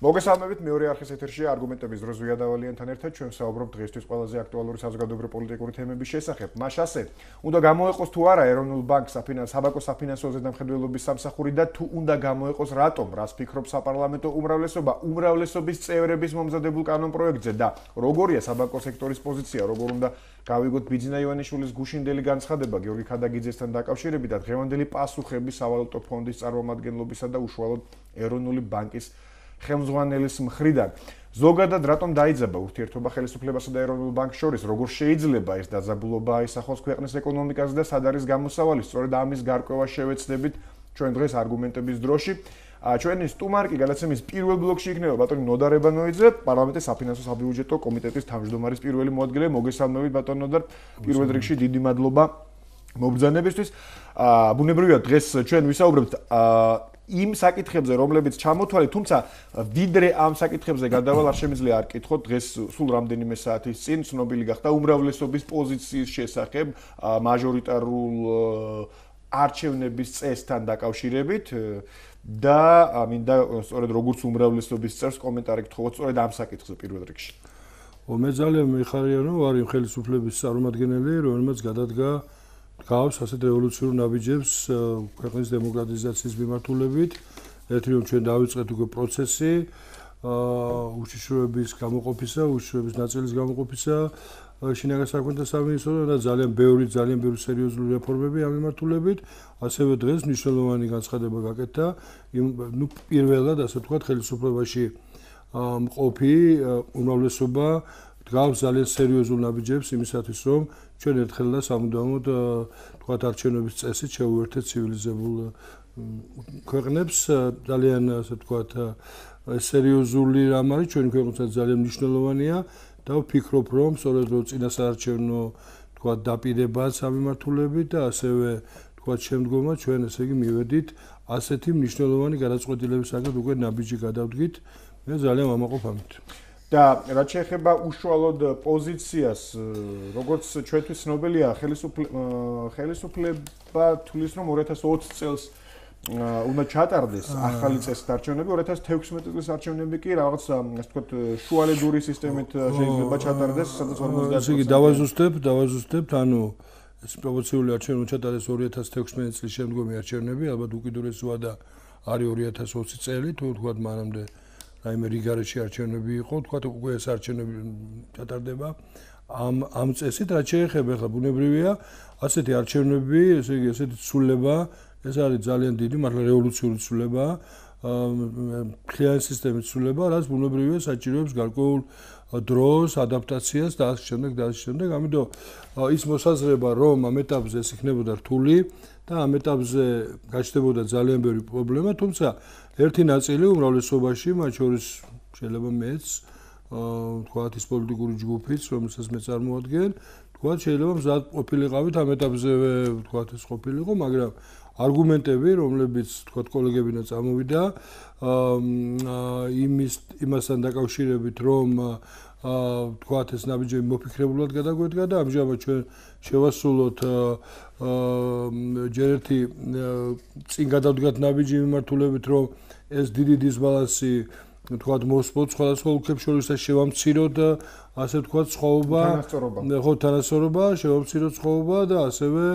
მოგესალმებით მეორე არხის ეთერში არგუმენტების დროს ზვია დავალიანთან ერთად ჩვენ საუბრობთ დღესთვის ყველაზე აქტუალური საზოგადოებრივი პოლიტიკური თემების შესახებ. მას ასე, უნდა გამოეყოს თუ არა ეროვნულ ბანკს საბაკო საფინანსო ზედამხედველობის სამსახური და თუ უნდა გამოეყოს რატომ, რას ფიქრობს საპარლამენტო უმრავლესობა უმრავლესობის წევრების მომზადებულ კანონპროექტზე და როგორია საბანკო სექტორის პოზიცია, როგორ უნდა გავიგოთ ბიძინა ივანიშვილის გუშინდელი განცხადება გიორგი ქადაგიძესთან დაკავშირებით და დღევანდელი პასუხები სავალუტო ფონდის წარმომადგენლობისა და უშუალოდ ეროვნული ბანკის ხელმძღვანელის მხრიდან. ზოგადად რატომ დაიძაბა ურთიერთობა ხელისუფლებასა და ეროვნულ ბანკს შორის, როგორ შეიძლება ეს დაძაბულობა აისახოს ქვეყნის ეკონომიკაზე და სად არის გამოსავალი, სწორედ ამის გარკვევა შევეცდებით ჩვენ დღეს არგუმენტების დროში. ჩვენი სტუმარი გადაცემის პირველ ბლოკში იქნება ბატონი ნოდარ რებანოიძე, პარლამენტის საფინანსო საბიუჯეტო კომიტეტის თავმჯდომარის პირველი მოადგილე. მოგესალმებით ბატონ ნოდარ, პირველ რიგში დიდი მადლობა მობრძანებისთვის. ბუნებრივია დღეს ჩვენ ვისაუბრებთ იმ საკითხებზე, რომლებიც ჩამოთვალეთ, თუმცა ვიდრე ამ საკითხებზე გადავალ, არ შემიძლია არ კითხოთ დღეს სულ რამდენიმე საათის წინ ცნობილი გახდა უმრავლესობის პოზიციის შესახებ მაჟორიტარულ არჩევნების წესთან დაკავშირებით და მინდა სწორედ როგორც უმრავლესობის წევს კომენტარი გთხოვოთ სწორედ ამ საკითხზე პირველ რიგში. მე ძალიან მიხარია, რომ ვარ იმ ხელისუფლების წარმომადგენელი, რომელმაც გადადგა გავს ასეთ რევოლუციურ ნაბიჯებს ქვეყნის დემოკრატიზაციის მიმართულებით. ერთი რომ ჩვენ დავიწყეთ უკვე პროცესი უშიშროების გამოყოფისა, უშიშროების ნაწილის გამოყოფისა შინაგან საქმეთა სამინისტროდან და ძალიან ბევრი სერიოზული რეფორმები ამ მიმართულებით. ასევე დღეს მნიშვნელოვანი განცხადება გაკეთდა პირველად ასე ვთქვათ ხელისუფლებაში მყოფი უმრავლესობა გავს ძალიან სერიოზულ ნაბიჯებს იმისათვის რომ ჩვენ ერთხელ და სამუდამოდ თქვათ არჩევნების წესით შევუერთეთ ცივილიზებულ ქვეყნებს ძალიან ასე ვთქვათ სერიოზული რამ არის ჩვენი ქვეყნებსაც ძალიან მნიშვნელოვანია და ვფიქრობ რომ სწორედ რომ წინასაარჩევნო თქვათ დაპირებაც ამ მიმართულებით და ასევე თქვათ შემდგომად ჩვენ ესე იგი მივედით ასეთი მნიშვნელოვანი გადაწყვეტილებისაგან უკვე ნაბიჯი გადავდგით მე ძალიან ვამაყობ ამით და რაც შეეხება უშუალოდ პოზიციას, როგორც ჩვენთვის ცნობილია, ხელისუფლება თulis რომ 2020 წელს უნდა ჩატარდეს ახალი წესით არჩევნები, 2016 წლის არჩევნები კი რაღაც ასე ვთქვათ შუალედური სისტემით შეიძლება ჩატარდეს, სადაც 50%. ესე იგი დავაზუსტებთ, ანუ ეს პროპორციული არჩევნები ჩატარდეს 2016 წლის შემდგომი არჩევნები, ალბათ უკიდურესი ვადა არის 2020 წელი, თუ ვთქვათ მანამდე რაიმე რიგარეში არჩევნები იყო, თქვათ უკვე ეს არჩევნები ჩატარდება ამ წესით, რაც შეეხება ახლა ბუნებრივია, ასეთი არჩევნები, ესე იგი ესეთი ცვლილება, ეს არის ძალიან დიდი, მართლა რევოლუციური ცვლილება, მთლიანი სისტემის ცვლილება, რაც ბუნებრივია საჭიროებს გარკვეულ დროს, ადაპტაციას და ასე შემდეგ, ამიტომ ის მოსაზრება, რომ ამ ეტაპზე ეს იქნებოდა რთული და ამ ეტაპზე გაჩნდებოდა ძალიან ბევრი პრობლემა, თუმცა ერთი ნაწილი უმრავლესობაში, მათ შორის შეიძლება მეც, თქვათ ის პოლიტიკური ჯგუფიც, რომელსაც მე წარმოადგენ, თქვათ შეიძლება მზად ყოფილიყავით ამ ეტაპზე, თქვათ ეს ყოფილიყო, მაგრამ არგუმენტები, რომლებიც თქვათ კოლეგებიდან წამოვიდა, იმასთან დაკავშირებით, რომ თქვათ ეს ნაბიჯები მოფიქრებულად გადაგვედგა და ამჟამად ჩვენ შევასრულოთ ჯერ ერთი წინ გადავდგათ ნაბიჯი მიმართულებით, რომ ეს დიდი დისბალანსი თქვათ მოსპოთ სხვადასხვა ოლქებს შორის და შევამციროთ ასე ვთქვათ სხვაობა, თანასწორობა, შევამციროთ სხვაობა და ასევე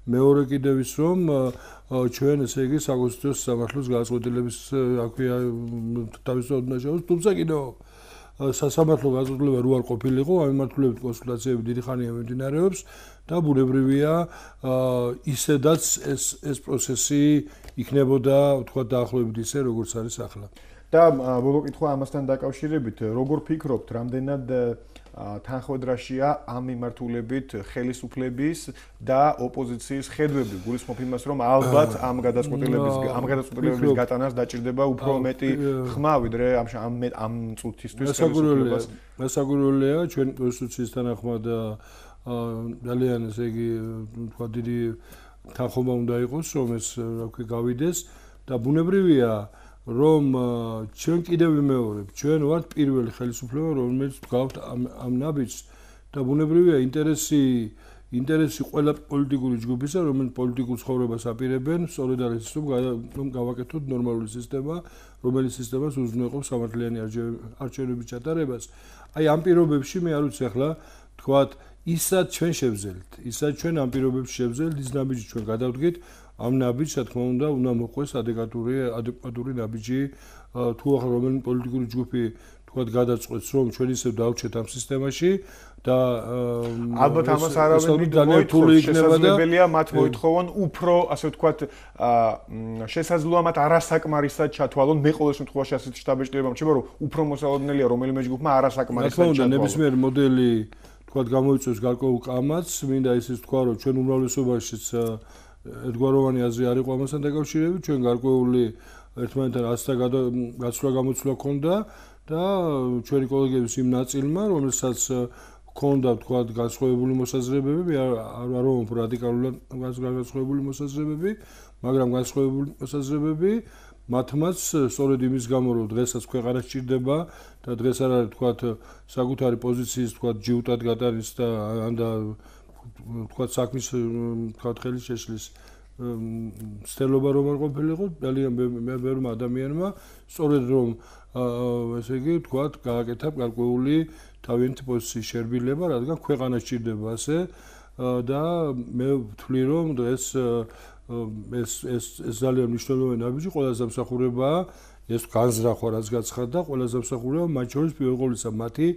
მეორე კიდევ ის რომ ჩვენ ესე იგი საკონსტიტუციო სამართლის გადაწყვეტილების აქვეა თავისუფლად უნდა შევას, თუმცა კიდევ სასამართლო გადაწყვეტილება რო არ ყოფილიყო, ამ მიმართულებით კონსულტაციები დიდი ხანია მიმდინარეობს და ბუნებრივია ისედაც ეს პროცესი იქნებოდა თქვათ დაახლოებით ისე როგორც არის ახლა. და ბოლო კითხვა ამასთან დაკავშირებით, როგორ ფიქრობთ, რამდენად თანხმედრაშია ამ მიმართულებით ხელისუფლების და ოპოზიციის ხედვები, გულისხმობ იმას, რომ ალბათ ამ გადაწყვეტილებების გატანას დაჭირდება უფრო მეტი ხმა, ვიდრე ამ წუთისთვის ხელისუფლებას. გასაკვირველია ჩვენი კონსტიტუციის თანახმად ძალიან ესე იგი თქვა დიდი თანხმობა უნდა იყოს, რომ ეს რა ქვია გავიდეს და ბუნებრივია რომ ჩვენ კიდევ ვიმეორებ, ჩვენ ვართ პირველი ხელისუფლება, რომელიც გვაქვს ამ ნაბიჯს და ბუნებრივია ინტერესი ინტერესი ყველა პოლიტიკური ჯგუფისა, რომელიც პოლიტიკურ ცხოვრებას აპირებენ, სწორედ არის ის, რომ გავაკეთოთ ნორმალური სისტემა, რომელიც სისტემას უზრუნველყოფს სამართლიანი არჩევნების ჩატარებას. აი ამ პირობებში მე არ ვიცი ახლა თქვათ ისაც ჩვენ შევძელთ, ისაც ჩვენ ამ პირობებში შევძელთ, ის ნაბიჯი ჩვენ გადავდგით, ამ ნაბიჯს, რა თქმა უნდა მოყვეს ადეკვატური ნაბიჯი, თუ ახლა რომელი პოლიტიკური ჯგუფი თქვათ გადაწყვეტს, რომ ჩვენ ისევ დავჩეთ ამ სისტემაში და ალბათ ამას არავინ შესაძლებელია მათ მოითხოვონ უფრო, ასე ვთქვათ, შესაძლოა მათ არასაკმარისად ჩათვალონ. მე ყოველ შემთხვევაში ასეთ შტაბ-ბეჭდილება მრჩება, რომ უფრო მოსალოდნელია რომელიმე ჯგუფმა არასაკმარისად ჩათვალონ. ნებისმიერ მოდელი თქვათ გამოიწვევს გარკვეულ კამათს, მინდა ისიც თქვა, რომ ჩვენ უმრავლესობაშიც ერთგვაროვანი აზრი არ იყო ამასთან დაკავშირებით, ჩვენ გარკვეული ერთმანეთთან ასთა გაცვლა-გამოცვლა ქონდა და ჩვენი კოლეგების იმ ნაწილმა, რომელსაც ქონდა თქვათ განსხვავებული მოსაზრებები, არ ვამბობ რადიკალურად განსხვავებული მოსაზრებები, მაგრამ განსხვავებული მოსაზრებები მათმაც სწორედ იმის გამო, რომ დღესაც ქვეყანა სჭირდება და დღეს არ არის თქვათ საკუთარი პოზიციის თქვათ ჯიუტად გატარის და ანდა თქვათ საქმის თქვათ ხელის შეშლის ცდელობა რომ არ ყოფილიყო, ძალიან ბევრმა ადამიანმა სწორედ რომ ესე იგი თქვათ გააკეთა გარკვეული თავიანთი პოზიციის შერბილება, რადგან ქვეყანა სჭირდება ასე და მე ვთვლი რომ დღეს ეს ძალიან მნიშვნელოვანი ნაბიჯი ყველაზე დამსახურებაა ეს განზრახვა რაც გაცხადდა, ყველაზე დამსახურება მათ შორის პირველ ყოვლისა მათი,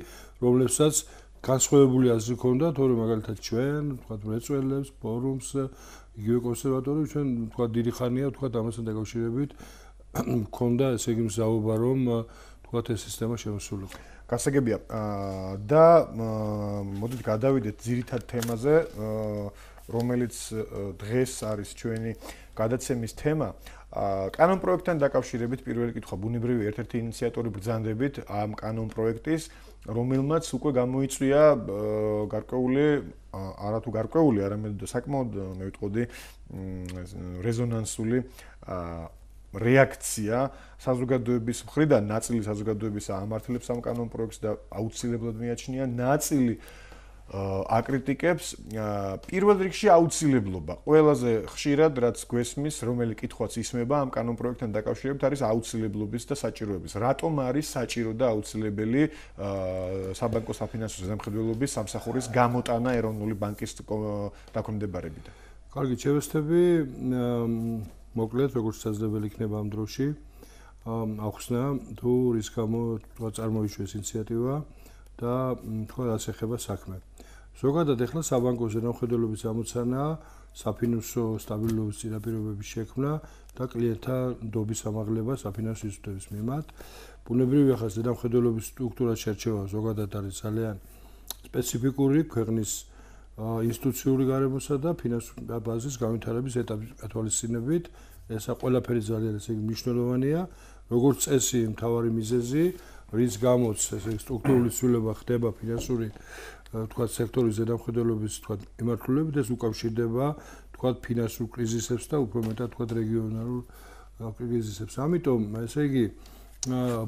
რომლებსაც განსხვავებული აზრი ქონდა, თორემ მაგალითად ჩვენ, თქვათ მრეწველებს, ფორუმს, იგივე კონსერვატორებს, ჩვენ თქვათ დიდი ხანია, თქვათ ამასთან დაკავშირებით ქონდა ესე იგი მზაობა, რომ თქვათ ეს სისტემა შემოსულიყო. გასაგებია და მოდით გადავიდეთ ძირითად თემაზე, რომელიც დღეს არის ჩვენი გადაცემის თემა. კანონპროექტთან დაკავშირებით პირველი კითხვა, ბუნებრივი ერთ-ერთი ინიციატორი ბრძანდებით ამ კანონპროექტის, რომელმაც უკვე გამოიწვია გარკვეული, არათუ გარკვეული, არამედ საკმაოდ მე ვიტყოდი რეზონანსული რეაქცია საზოგადოების მხრიდან, ნაწილი საზოგადოების ამართლებს ამ კანონპროექტს და აუცილებლად მიაჩნია, ნაწილი აკრიტიკებს პირველ რიგში აუცილებლობა. ყველაზე ხშირად რაც გვესმის, რომელი კითხვაც ისმება ამ კანონპროექტთან დაკავშირებით არის აუცილებლობის და საჭიროების. რატომ არის საჭირო და აუცილებელი საბანკო საფინანსო ზედამხედველობის სამსახურის გამოტანა ეროვნული ბანკის დაქვემდებარებიდან? კარგი, შევესწრები, მოკლედ როგორც შესაძლებელი იქნება ამ დროში ახსნა თუ რის გამო წარმოიშვეს ინიციატივა და თქვა რაც ეხება საქმე. ზოგადად ახლა საბანკო ზედამხედველობის ამოცანა, საფინანსო სტაბილურობის წინაპირობების შექმნა და კლიენტთა ნდობის ამაღლება საფინანსო ინსტიტუტების მიმართ. ბუნებრივი ახლა ზედამხედველობის სტრუქტურას შერჩევა ზოგადად არის ძალიან სპეციფიკური ქვეყნის ინსტიტუციური გარემოსა და ფინანსური ბაზის განვითარების ეტაპის ათვალისწინებით. ესა ყველაფერი ძალიან ესე იგი მნიშვნელოვანია, როგორც წესი, მთავარი მიზეზი, რის გამოც ესე სტრუქტურული ცვლილება ხდება ფინანსური თქვათ სექტორის ზედამხედველობის თქვათ მიმართულებით, ეს უკავშირდება თქვათ ფინანსურ კრიზისებს და უფრო მეტად თქვათ რეგიონალურ კრიზისებს. ამიტომ ესე იგი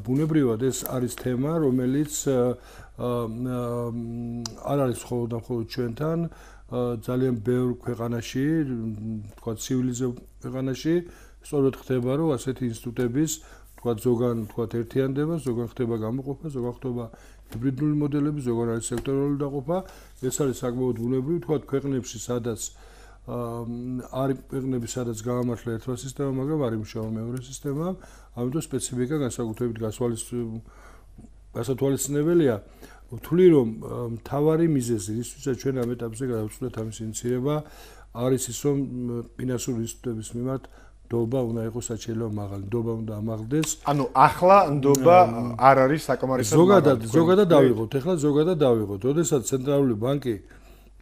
ბუნებრივად ეს არის თემა, რომელიც არ არის მხოლოდ ჩვენთან, ძალიან ბევრ ქვეყანაში, თქვათ ცივილიზებულ ქვეყანაში სწორედ ხდება, რომ ასეთი ინსტიტუტების თქვათ ზოგან თქვათ ერთიანდება, ზოგან ხდება გამოყოფა, ზოგან ხდება ჰიბრიდული მოდელები, ზოგან არის სექტორალური დაყოფა. ეს არის საკმაოდ ბუნებრივი, თქვათ ქვეყნებში, სადაც არის ქვეყნები, სადაც გაამართლა ერთმა სისტემამ, მაგრამ არ იმუშავა მეორე სისტემამ, ამიტომ სპეციფიკა განსაკუთრებით გასათვალისწინებელია. ვთვლი, რომ მთავარი მიზეზი, რისთვისაც ჩვენ ამ ეტაპზე გადავწყვეტ ამის ინიციირება, არის ის, რომ ფინანსური ინსტიტუტების მიმართ ნდობა უნდა იყოს საჩიელო მაღალი, ნდობა უნდა ამაღლდეს. ანუ ახლა ნდობა არ არის საკმარისად მაღალი. ზოგადად დავიღოთ, ახლა ზოგადად დავიღოთ. როდესაც ცენტრალური ბანკი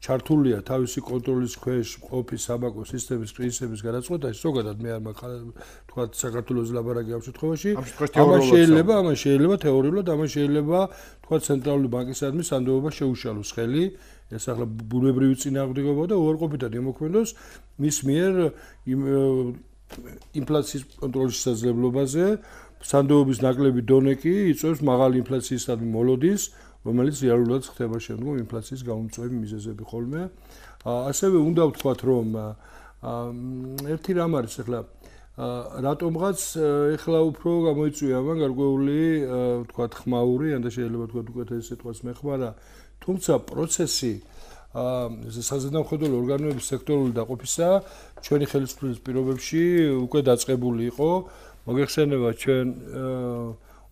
ჩართულია თავისი კონტროლის ქვეშ ყოფი საბანკო სისტემის კრიზისების გადაწყვეტაში, ზოგადად მე არ მაქვს თქვა საქართველოს ლაბორატორია ამ შემთხვევაში. ამან შეიძლება თეორიულად, ამან შეიძლება თქვა ცენტრალური ბანკისადმი სანდოობა შეუშალოს ხელი, ეს ახლა ბუნებრივი წინააღმდეგობა და უარყოფითად იმოქმედოს მის მიერ ინფლაციის კონტროლის შესაძლებლობაზე, სანდოობის ნაკლები დონე კი იწვევს მაღალი ინფლაციისადმი მოლოდის, რომელიც რეალურად ხდება შემდგომ ინფლაციის გამომწვევი მიზეზები ხოლმე. ასევე უნდა ვთქვათ, რომ ერთი რამ არის ახლა რატომღაც ახლა უფრო გამოიწვია ამან გარკვეული ვთქვათ ხმაური, ან და შეიძლება ვთქვათ უკეთ ეს სიტყვას მეხმარა, თუმცა პროცესი საზედამხედველო ორგანოების სექტორული დაყოფისა ჩვენი ხელისუფლების პირობებში უკვე დაწყებული იყო. მოგეხსენება ჩვენ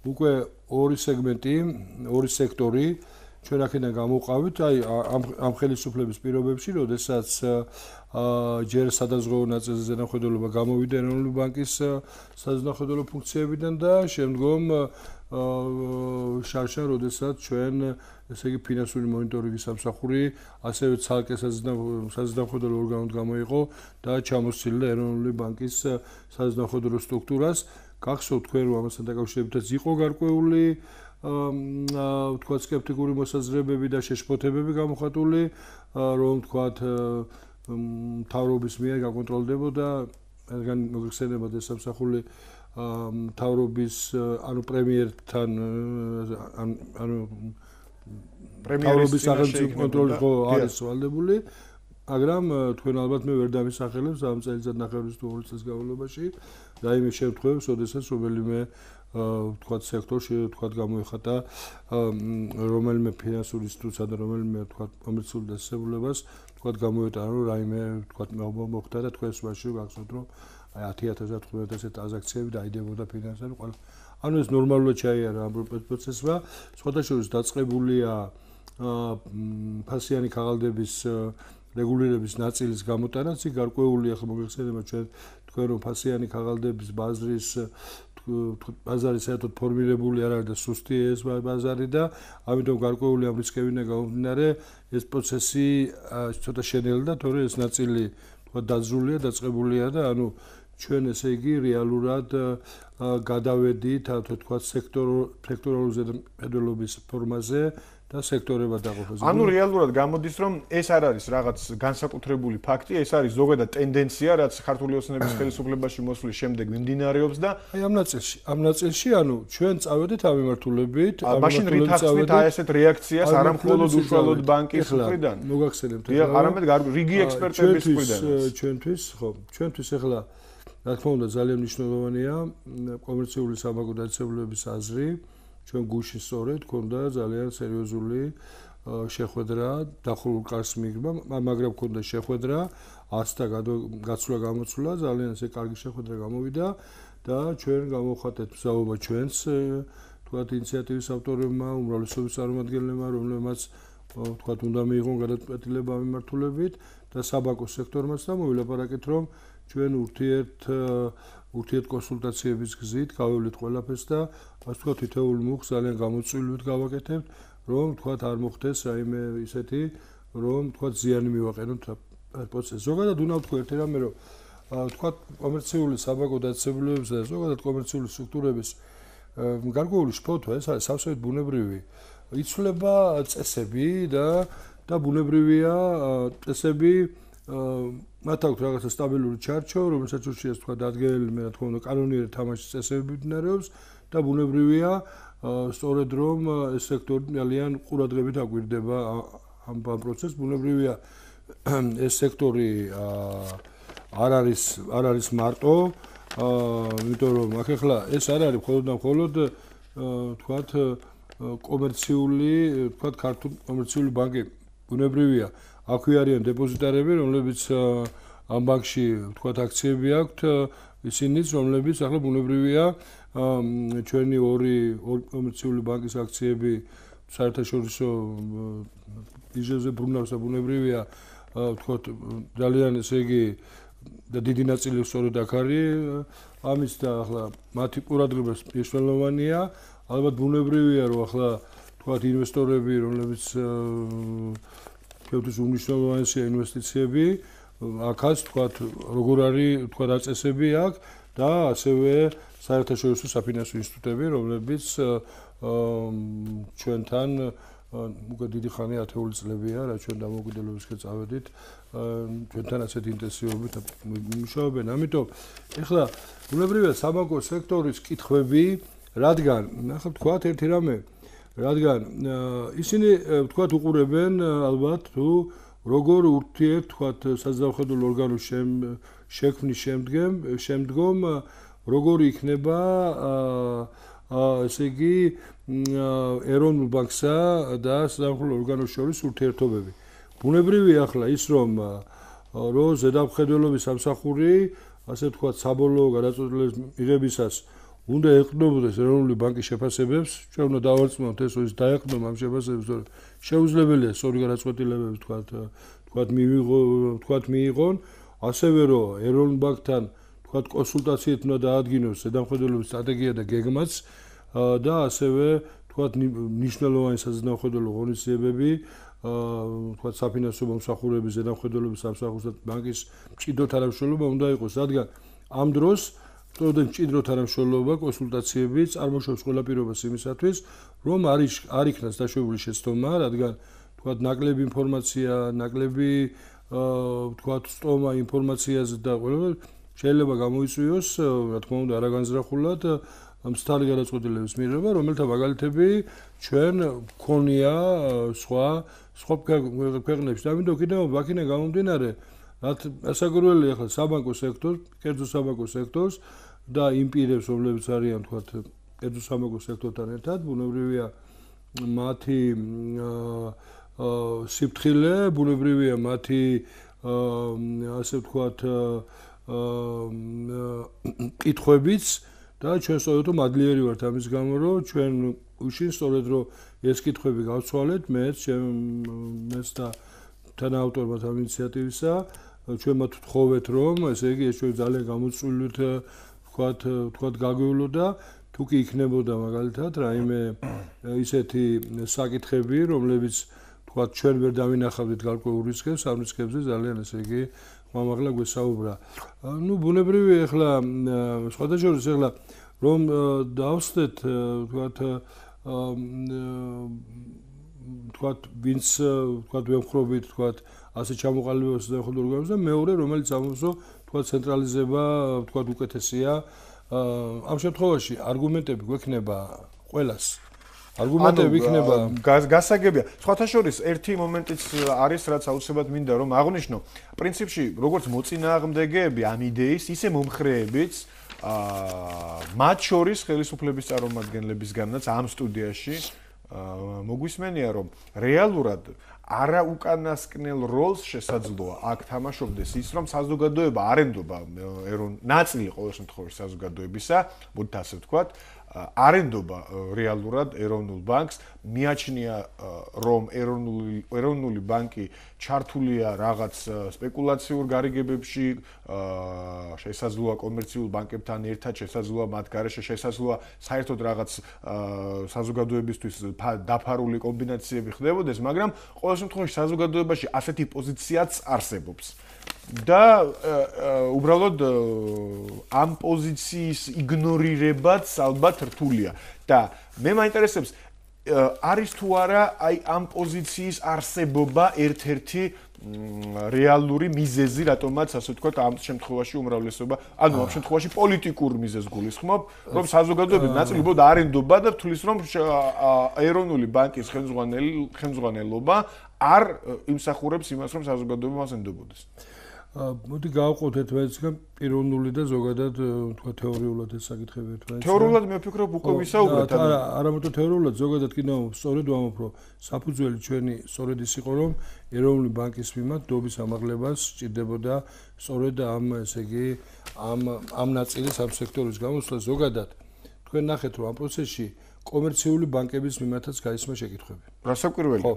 უკვე ორი სეგმენტი, ორი სექტორი ჩვენ აქედან გამოვყავით, აი ამ ხელისუფლების პირობებში, როდესაც ჯერ სადაზღვევო ნაწილზე ზედამხედველობა გამოვიდა ეროვნული ბანკის საზედამხედველო ფუნქციებიდან და შემდგომ შარშან, როდესაც ჩვენ ესე იგი ფინანსური მონიტორინგის სამსახური ასევე ცალკე საზედამხედველო ორგანოდ გამოიყო და ჩამოსცილდა ეროვნული ბანკის საზედამხედველო სტრუქტურას. გახსოვთ თქვენ, რომ ამასთან დაკავშირებითაც იყო გარკვეული ვთქვათ სკეპტიკური მოსაზრებები და შეშფოთებები გამოხატული, რომ ვთქვათ მთავრობის მიერ გაკონტროლდებოდა, რადგან მოგეხსენებათ ეს სამსახური მთავრობის ანუ პრემიერთან ანუ მთავრობის სახელმწიფო კონტროლის ხო არის ვალდებული, მაგრამ თქვენ ალბათ მე ვერ დამისახელებს ამ წელიწადნახევრის თუ 2 წელს განმავლობაში და იმ შემთხვევებში, როდესაც რომელიმე ვთქვათ სექტორში ვთქვათ გამოიხატა რომელიმე ფინანსური ინსტიტუცია და რომელიმე ვთქვათ კომერციული დაწესებულებას ვთქვათ გამოეტანა რომ რაიმე ვთქვათ მოხდა და თქვენს მასში გახსოვთ რომ აი 10000-ად 15000 ტრანზაქციები დაიდებოდა ფინანსური ყველა ანუ ეს ნორმალურად ჩაიარა ამ პროცესმა სხვათა შორის დაწყებულია ფასიანი ქაღალდების რეგულირების ნაწილის გამოტანაც იქ გარკვეული ახლა მოგეხსენება თქვენ რომ ფასიანი ქაღალდების ბაზარი საერთოდ ფორმირებული არ არის და სუსტი ეს ბაზარი და ამიტომ გარკვეული ამ რისკებიდან გამომდინარე ეს პროცესი ცოტა შენელდა, თორე ეს ნაწილი თქვა დაძრულია, დაწყებულია და ანუ ჩვენ ესე იგი რეალურად გადავედით თქვა სექტორალური ზედამხედველობის ფორმაზე და სექტორებად დაყოფაზე. ანუ რეალურად გამოდის რომ ეს არ არის რაღაც განსაკუთრებული ფაქტი, ეს არის ზოგადად ტენდენცია, რაც ქართული ოცნების ხელისუფლებაში მოსვლის შემდეგ მიმდინარეობს და აი ამ ნაწილში ანუ ჩვენ წავედით ამ მიმართულებით, მაშინ რით ახსნით აი ესეთ რეაქციას არა მხოლოდ უშუალოდ ბანკის მხრიდან. მოგახსენებთ არამედ რიგი ექსპერტების მხრიდან. ჩვენთვის ხო, ჩვენთვის ახლა რა თქმა უნდა ძალიან მნიშვნელოვანია კომერციული საბანკო დაწესებულებების აზრი. ჩვენ გუში სწორედ ქონდა ძალიან სერიოზული შეხვედრა დახურულ კარს მიღება, მაგრამ ქონდა შეხვედრა, ასთა გაცვლა-გამოცვლა, ძალიან ესე კარგი შეხვედრა გამოვიდა და ჩვენ გამოვხატეთ მსაუბრობა ჩვენს თქვათ ინიციატივის ავტორებმა, უმრავლესობის წარმომადგენლებმა, რომლებმაც თქვათ უნდა მიიღონ გადაწყვეტილება ამ მიმართულებით და საბანკო სექტორმაც და მოვილაპარაკეთ რომ ჩვენ ურთიერთ კონსულტაციების გზით გავევლით ყველაფერს და ასე ვთქვათ თითოეულ მუხს ძალიან გამოწვივლივით გავაკეთებთ რომ ვთქვათ არ მოხდეს რაიმე ისეთი რომ ვთქვათ ზიანი მივაყენოთ პროცესს. ზოგადად უნდა ვთქვა ერთი რამე რომ ვთქვათ კომერციული საბანკო დაწესებულებების და ზოგადად კომერციული სტრუქტურების გარკვეული შფოთვა ეს არის სავსებით ბუნებრივი. იცვლება წესები და ბუნებრივია წესები მათ აქვს რაღაცა სტაბილური ჩარჩო, რომელსაც უშიას თქვა დადგენილი მე რა თქმა უნდა კანონიერი თამაშის წესები მიმდინარეობს და ბუნებრივია სწორედ რომ ეს სექტორი ძალიან ყურადღებით აკვირდება ამ პროცესს. ბუნებრივია ეს სექტორი არ არის მარტო, იმიტომ რომ აქ ახლა ეს არ არის მხოლოდ და მხოლოდ თქვათ კომერციული, თქვათ ქართული კომერციული ბანკი. ბუნებრივია აქვე არიან დეპოზიტარები, რომლებიც ამ ბანკში ვთქვათ აქციები აქვთ, ისინიც რომლებიც ახლა ბუნებრივია ჩვენი ორი კომერციული ბანკის აქციები საერთაშორისო ბირჟებზე ბრუნავს და ბუნებრივია ვთქვათ ძალიან ესე იგი და დიდი ნაწილი სწორედ აქ არის ამის და ახლა მათი ყურადღება მნიშვნელოვანია. ალბათ ბუნებრივია რომ ახლა ვთქვათ ინვესტორები რომლებიც ჩვენთვის უმნიშვნელოვანესია ინვესტიციები, აქაც ვთქვათ როგორ არის ვთქვათ დაწესები აქ და ასევე საერთაშორისო საფინანსო ინსტიტუტები, რომლებიც ჩვენთან უკვე დიდი ხანი 10 წლებია, რა ჩვენ დამოუკიდებლობისკენ წავედით, ჩვენთან ასეთ ინტენსივობით მუშაობენ. ამიტომ ეხლა ბუნებრივია საბანკო სექტორის კითხვები, რადგან ახლა ვთქვათ ერთი რამე რადგან ისინი თქვათ უყურებენ ალბათ თუ როგორ ურთიერთ თქვათ საზავხედულ ორგანოს შექმნის შემდგომ როგორ იქნება ესე იგი ეროვნულ ბანკსა და საზავხედულ ორგანოს შორის ურთიერთობები. ბუნებრივია ახლა ის რომ ზედამხედველობის სამსახური ასე ვთქვათ საბოლოო გადაწყვეტილების მიღებისას უნდა ეყრდნობოდეს ეროვნული ბანკის შეფასებებს, ჩვენ უნდა დავარწმუნოთ ეს ის დაეყრდნობა ამ შეფასებებს, რომ შეუძლებელია სწორი გადაწყვეტილებები ვთქვათ მიიღონ, ასევე რომ ეროვნულ ბანკთან ვთქვათ კონსულტაციით უნდა დაადგინოს ზედამხედველობის სტრატეგია და გეგმაც და ასევე ვთქვათ მნიშვნელოვანი საზედამხედველო ღონისძიებები ვთქვათ საფინანსო მომსახურების ზედამხედველობის სამსახურსა და ბანკის მჭიდრო თანამშრომლობა უნდა იყოს, რადგან ამ დროს სწორედ მჭიდრო თანამშრომლობა კონსულტაციები წარმოშობს ყველა პირობას იმისათვის, რომ არ იქნას დაშვებული შეცდომა, რადგან ვთქვათ ნაკლები ინფორმაცია, ნაკლები ვთქვათ სტომა ინფორმაციაზე და ყველა შეიძლება გამოიწვიოს, რა თქმა უნდა, არაგანზრახულად მსთარი გადაწყვეტილების მიღება, რომელთა მაგალითები ჩვენ გქონია სხვა ქვეყნებში. ამიტომ კიდევ აქედან გამომდინარე, რაც ასაგროელი ახლა საბანკო სექტორს, კერძო საბანკო სექტორს და იმ პირებს, რომლებიც არიან თქვათ კერძო საბანკო სექტორთან ერთად, ბუნებრივია მათი სიფრთხილე, ბუნებრივია მათი ასე ვთქვათ კითხვებიც და ჩვენ სწორედ რომ ადლიერი ვართ ამის გამო, რომ ჩვენ უშინ სწორედ რომ ეს კითხვები გავცვალეთ, მეც და თანაავტორმა ამ ინიციატივისა, ჩვენ მათ ვთხოვეთ, რომ ესე იგი ეს ჩვენ ძალიან გამოწვლივლით ვთქვათ გაგვივლოდა, თუ კი იქნებოდა მაგალითად რაიმე ისეთი საკითხები, რომლებიც ვთქვათ ჩვენ ვერ დავინახავდით გარკვეულ რისკებს, ამ რისკებზე ძალიან ესე იგი მამაღლა გვესაუბრა. ნუ ბუნებრივია ახლა სხვადასხვა ახლა რომ დავსვეთ ვთქვათ ვინც ვთქვათ ვემხრობით ვთქვათ ასე ჩამოყალიბებას ზედამხედველო ორგანოზე და მეორე რომელიც ამბობს ვთქვათ ცენტრალიზება ვთქვათ უკეთესია. ამ შემთხვევაში არგუმენტები გვექნება ყველას. არგუმენტები იქნება გასაგებია. სხვათა შორის ერთი მომენტიც არის, რაც აუცილებლად მინდა რომ აღვნიშნო. პრინციპში, როგორც მოწინააღმდეგეები ამ იდეის, ისე მომხრეებიც მათ შორის ხელისუფლების წარმომადგენლებისგანაც ამ სტუდიაში მოგვისმენია, რომ რეალურად არაუკანასკნელ როლს შესაძლოა აქ თამაშობდეს ის, რომ საზოგადოება არ ენდობა ნაწილი ყოველ შემთხვევაში საზოგადოებისა, მოდით ასე ვთქვათ, არ ენდობა რეალურად ეროვნულ ბანკს, მიაჩნია რომ ეროვნული ბანკი ჩართულია რაღაც სპეკულაციურ გარიგებებში, შესაძლოა კომერციულ ბანკებთან ერთად, შესაძლოა მათ გარეშე, შესაძლოა საერთოდ რაღაც საზოგადოებისთვის დაფარული კომბინაციები ხდებოდეს, მაგრამ ყოველ შემთხვევაში საზოგადოებაში ასეთი პოზიციაც არსებობს. და უბრალოდ ამ პოზიციის იგნორირებაც ალბათ რთულია და მე მაინტერესებს არის თუ არა აი ამ პოზიციის არსებობა ერთ-ერთი რეალური მიზეზი, რატომაც ასე ვთქვათ ამ შემთხვევაში უმრავლესობა, ანუ ამ შემთხვევაში პოლიტიკურ მიზეზს გულისხმობ, რომ საზოგადოების ნაწილი უბრალოდ არ ენდობა და თulis რომ ეროვნული ბანკის ხელმძღვანელობა არ იმსახურებს იმას, რომ საზოგადოება მას ენდობოდეს. მოდი გავყოთ ერთმანეთისგან პიროვნული და ზოგადად თქვა თეორიულად ეს საკითხები ერთმანეთს. თეორიულად მე ვფიქრობ უკვე ვისაუბრეთ. არა მარტო თეორიულად, ზოგადად კიდევ სწორედ ვამბობ, რომ საფუძველი ჩვენი სწორედ ის იყო, რომ ეროვნული ბანკის მიმართ დობის ამაღლებას სჭირდებოდა სწორედ ამ ესე იგი ამ ნაწილის ამ სექტორის გამოსვლა ზოგადად. თქვენ ნახეთ, რომ ამ პროცესში კომერციული ბანკების მიმართაც გაისმა შეკითხვები. რასაკვირველი? ხო.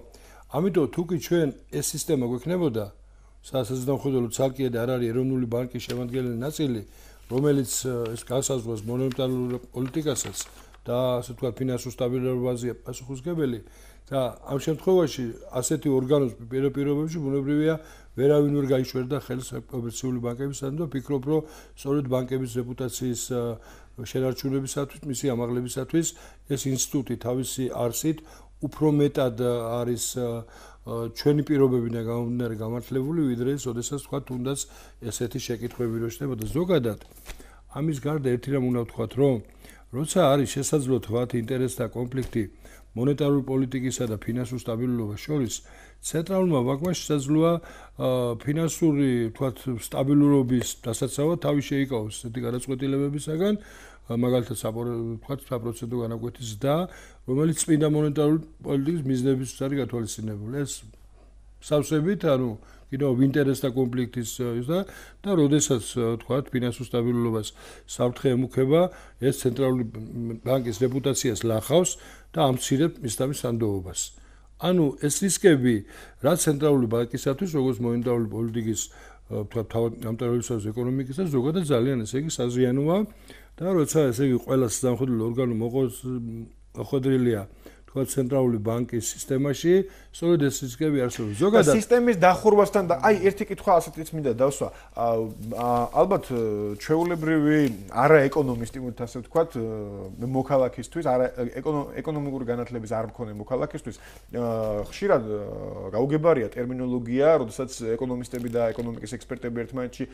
ამიტომ თუ კი ჩვენ ეს სისტემა გვექნებოდა საზედამხედველო ცალკე და არ არის ეროვნული ბანკის შემადგენელი ნაწილი, რომელიც ეს განსაზღვრავს მონეტარულ პოლიტიკასაც და ასე ვთქვათ ფინანსურ სტაბილურობაზეა პასუხისმგებელი და ამ შემთხვევაში ასეთი ორგანოს პირობებში ბუნებრივია ვერავინ ვერ გაიშვერდა ხელს კომერციული ბანკებისთან და ვფიქრობ, რომ სწორედ ბანკების რეპუტაციის შენარჩუნებისათვის, მისი ამაღლებისათვის ეს ინსტიტუტი თავისი არსით უფრო მეტად არის ჩვენი პირობებიდან გამომდინარე გამართლებული, ვიდრე შესაძლოა თქვა თუნდაც ესეთი შეკითხვები რო შედებოდა ზოგადად. ამის გარდა ერთი რამ უნდა ვთქვათ, რომ როცა არის შესაძლოა თქვათ ინტერესთა კონფლიქტი მონეტარული პოლიტიკისა და ფინანსურ სტაბილურობას შორის ცენტრალურმა ბანკმა შესაძლოა ფინანსური, თქვათ, სტაბილურობის დასაცავად თავი შეიკავოს ესეთი გადაწყვეტილებებისაგან, მაგალითად, თქვათ, საპროცენტო განაკვეთის ზრდა, რომელიც წმინდა მონეტარული პოლიტიკის მიზნებისთვის არის გათვალისწინებული. ეს სავსებით, ანუ კიდევ ინტერესთა კონფლიქტის და როდესაც თქვათ, ფინანსურ სტაბილურობას საფრთხე ემუქება, ეს ცენტრალური ბანკის რეპუტაციას ლახავს და ამცირებს მისდამის სანდოობას. ანუ ეს რისკები, რაც ცენტრალური ბანკისათვის, როგორც მონეტარული პოლიტიკის თქვათ, თავმჯდომარეობისას ეკონომიკისა, ზოგადად ძალიან ესე იგი საზიანოა და როცა ესე იგი ყველა სამხედრო ორგანო მოხვედრილია თქვათ ცენტრალური ბანკის სისტემაში, სწორედ ეს რისკები არსებობს. ზოგადად სისტემის დახურვასთან და აი ერთი კითხვა ასეთიც მინდა დავსვა. ალბათ ჩვეულებრივი არა ეკონომისტი მოდი ასე ვთქვათ, მოქალაქისთვის, არა ეკონომიკური განათლების არ მქონე მოქალაქისთვის ხშირად გაუგებარია ტერმინოლოგია, როდესაც ეკონომისტები და ეკონომიკის ექსპერტები ერთმანეთში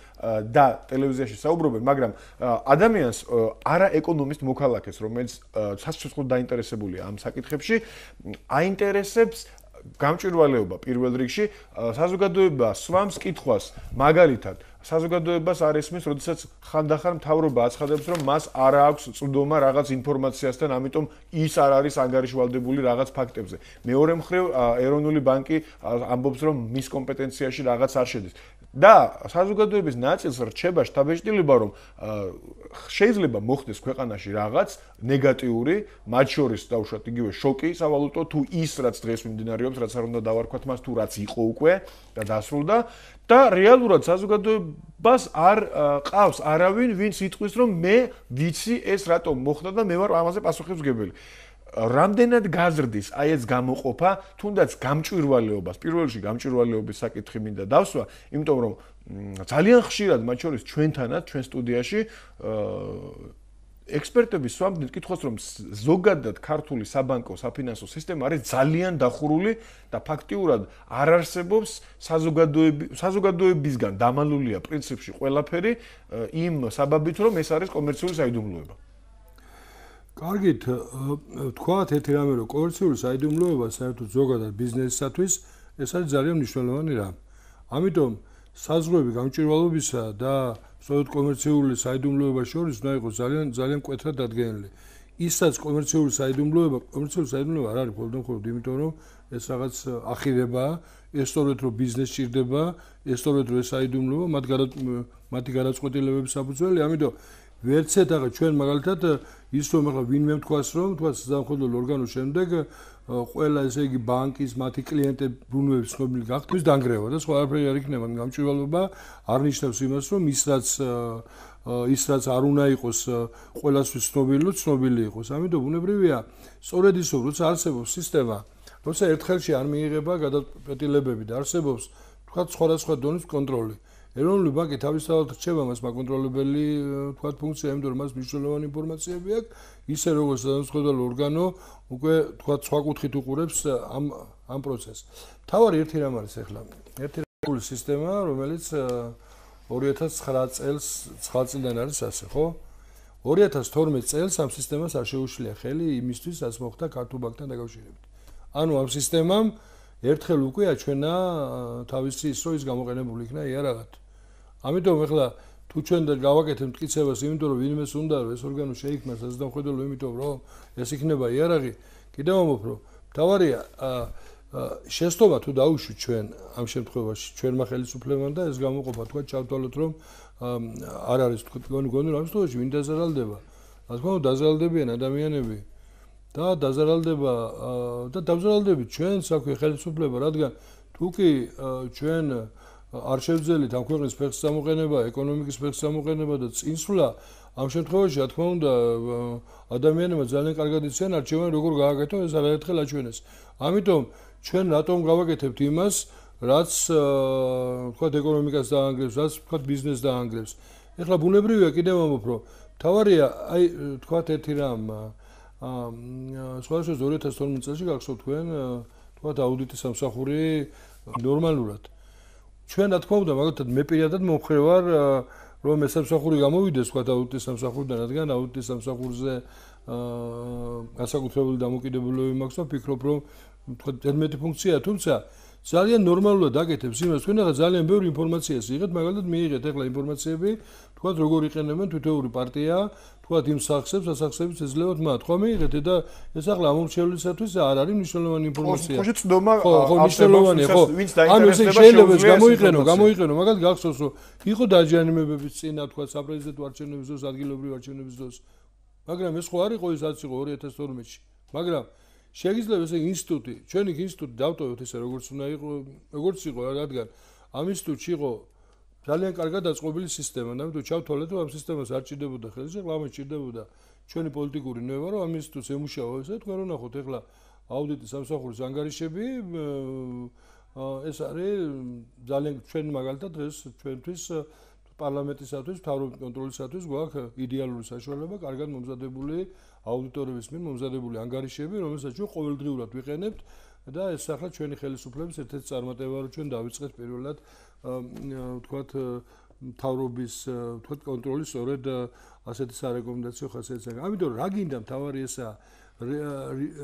და ტელევიზიაში საუბრობენ, მაგრამ ადამიანს არა ეკონომისტ მოქალაქეს, რომელიც სასწრაფოდ დაინტერესებულია ამ საკითხებში, აინტერესებს გამჭვირვალეობა პირველ რიგში, საზოგადოება სვამს კითხვას, მაგალითად, საზოგადოებას არ ესმის, როდესაც ხანდახან მთავრობა აცხადებს, რომ მას არ აქვს წვდომა რაღაც ინფორმაციასთან, ამიტომ ის არ არის ანგარიშვალდებული რაღაც ფაქტებზე. მეორე მხრივ, ეროვნული ბანკი ამბობს, რომ მის კომპეტენციაში რაღაც არ შედის. და საზოგადოების ნაწილს რჩება შთაბეჭდილება, რომ შეიძლება მოხდეს ქვეყანაში რაღაც ნეგატიური, მათ შორის დავუშვათ იგივე შოკი სავალუტო, თუ ის რაც დღეს მიმდინარეობს, რაც არ უნდა დავარქვათ მას, თუ რაც იყო უკვე და დასრულდა და რეალურად საზოგადოებას არ ყავს არავინ, ვინც იტყვის, რომ მე ვიცი ეს რატომ მოხდა და მე ვარ ამაზე პასუხისმგებელი. რამდენად გაზრდის აი ეს გამოყოფა, თუნდაც გამჭვირვალეობას, პირველ რიგში გამჭვირვალეობის საკითხი მინდა დავსვა, იმიტომ რომ ძალიან ხშირად მათ შორის ჩვენთანაც, ჩვენ სტუდიაში ექსპერტები სვამდნენ კითხვას, რომ ზოგადად ქართული საბანკო საფინანსო სისტემა არის ძალიან დახურული და ფაქტიურად არ არსებობს საზოგადოებისგან დამალულია პრინციპში ყველაფერი იმ საბაბით, რომ ეს არის კომერციული საიდუმლოება. კარგით, თქვათ ერთი რამე, რომ კომერციული საიდუმლოება საერთოდ ზოგადად ბიზნესისათვის ეს არის ძალიან მნიშვნელოვანი რამ. ამიტომ საზღვრები გამჭვირვალობისა და სწორედ კომერციული საიდუმლოება შორის უნდა იყოს ძალიან მკვეთრად დადგენილი. ისაც კომერციული საიდუმლოება არ არის მხოლოდ იმიტომ, რომ ეს რაღაც ახირებაა, ეს სწორედ რომ ბიზნესი ჭირდება, ეს სწორედ რომ ეს საიდუმლოება მათი გადაწყვეტილებების საფუძველი, ამიტომ ვერცეთ ახლა ჩვენ მაგალითად ის რომ ახლა ვინმე თქვას რომ თქვა სამხედრო ორგანოს შემდეგ ყველა ესე იგი ბანკის მათი კლიენტები ბრუნვების ცნობილი გახდეს დანგრევა და სხვა არაფერი არ იქნება გამჭვირვალობა არ ნიშნავს იმას რომ ის რაც არ უნდა იყოს ყველასთვის ცნობილი იყოს ამიტომ ბუნებრივია სწორედ ის რომ როცა არსებობს სისტემა როცა ერთხელში არ მიიღება გადაწყვეტილებები და არსებობს თქვა სხვადასხვა დონის კონტროლი ეროვნული ბანკი თავისთავად რჩება მას მაკონტროლებელი თქვა ფუნქცია, იმიტომ რომ მას მნიშვნელოვანი ინფორმაციები აქვს, ისე როგორც საზოგადოებრივ ორგანო უკვე თქვა სხვა კუთხით უყურებს ამ პროცესს. თავარი ერთი რამ არის ახლა. ერთი რამული სისტემა, რომელიც 2009 წელს 9 წლიდან არის ასე, ხო? 2012 წელს ამ სისტემას არ შეუშლია ხელი იმისთვის, რაც მოხდა ქართულ ბანკთან დაკავშირებით. ანუ ამ სისტემამ ერთხელ უკვე აჩვენა თავისი ის რომ ის გამოყენებული იქნა იარაღად. ამიტომ ახლა თუ ჩვენ გავაკეთებთ მტკიცებას, იმიტომ რომ ვინმეს უნდა რომ ეს ორგანო შეიქმნა საზოგადოებრივ, იმიტომ რომ ეს იქნება იარაღი, კიდევ ამბობ რომ თავარია შეცდომა თუ დაუშვით ჩვენ ამ შემთხვევაში ჩვენმა ხელისუფლებამ და ეს გამოყოფა თქვა ჩავთვალოთ რომ არ არის თქვა გონი ამ შემთხვევაში ვინ დაზარალდება. რა თქმა უნდა დაზარალდებიან ადამიანები და დაზარალდებით ჩვენ საქმე ხელისუფლება, რადგან თუ კი ჩვენ არ შევძელით ამ ქვეყნის ფეხს გამოყენება, ეკონომიკის ფეხს გამოყენება და წინსვლა, ამ შემთხვევაში, რა თქმა უნდა, ადამიანებმა ძალიან კარგად იციან არჩევანი როგორ გააკეთონ, ეს არაერთხელ აჩვენეს. ამიტომ ჩვენ რატომ გავაკეთებთ იმას, რაც თქვა ეკონომიკას დაანგრევს, რაც თქვა ბიზნესს დაანგრევს. ეხლა ბუნებრივია კიდევ ამბობ, რომ თავარია, აი თქვა ერთი რამ სხვადასხვა 2012 წელს გახსოვთ თქვენ თქვა აუდიტის სამსახური ნორმალურად. ჩვენ რა თქმა უნდა, მაგალითად მე პირადად მომხრე ვარ, რომ ეს სამსახური გამოვიდეს თქვა აუდიტის სამსახურიდან, რადგან აუდიტის სამსახურზე განსაკუთრებული დამოკიდებულება მაქვს და ვფიქრობ, რომ თქვა 11 ფუნქციაა, თუმცა ძალიან ნორმალურად აკეთებს იმას, თქვენ ახლა ძალიან ბევრი ინფორმაციას იღეთ, მაგალითად მიიღეთ ახლა ინფორმაციები, თქვა როგორ იყენებენ თითოეული პარტია, თქვა იმ სახსებს, ასახსებს ეძლებათ მათ, ხო მიიღეთ და ეს ახლა ამორჩევლისათვის არ არის მნიშვნელოვანი ინფორმაცია. ხო, წდომა მნიშვნელოვანია, ხო. ანუ ეს შეიძლება გამოიყენო, მაგალითად გახსოვს, რომ იყო დაჯანიმებების წინა, თქვა საპრეზიდენტო არჩევნების დროს, ადგილობრივი არჩევნების დროს. მაგრამ ეს ხო არ იყო ის რაც იყო 2012-ში. მაგრამ შეიძლება ესე ინსტიტუტი, ჩვენი ინსტიტუტი დავტოვოთ ესე როგორც უნდა იყო, როგორც იყო, რადგან ამ ინსტიტუტში იყო ძალიან კარგად დაწყობილი სისტემა, ამიტომ ჩავთვალეთ, რომ ამ სისტემას არ ჭირდებოდა ხელის, ახლა ჭირდებოდა ჩვენი პოლიტიკური ნევა, რომ ამ ინსტიტუტს ემუშავა ესე, თქვენ რომ ნახოთ ახლა აუდიტის სამსახურის ანგარიშები, ეს არის ძალიან ჩვენ მაგალითად დღეს ჩვენთვის პარლამენტისათვის, მთავრობის კონტროლისათვის გვაქვს იდეალური საშუალება, კარგად მომზადებული აუდიტორების მიერ მომზადებული ანგარიშები, რომელსაც ჩვენ ყოველდღიურად ვიყენებთ და ეს ახლა ჩვენი ხელისუფლების ერთ-ერთი წარმატება, რომ ჩვენ დავიწყეთ პირველად ვთქვათ მთავრობის ვთქვათ კონტროლი სწორედ ასეთი სარეკომენდაციო ხასიათისგან. ამიტომ რა გინდა მთავარი ესაა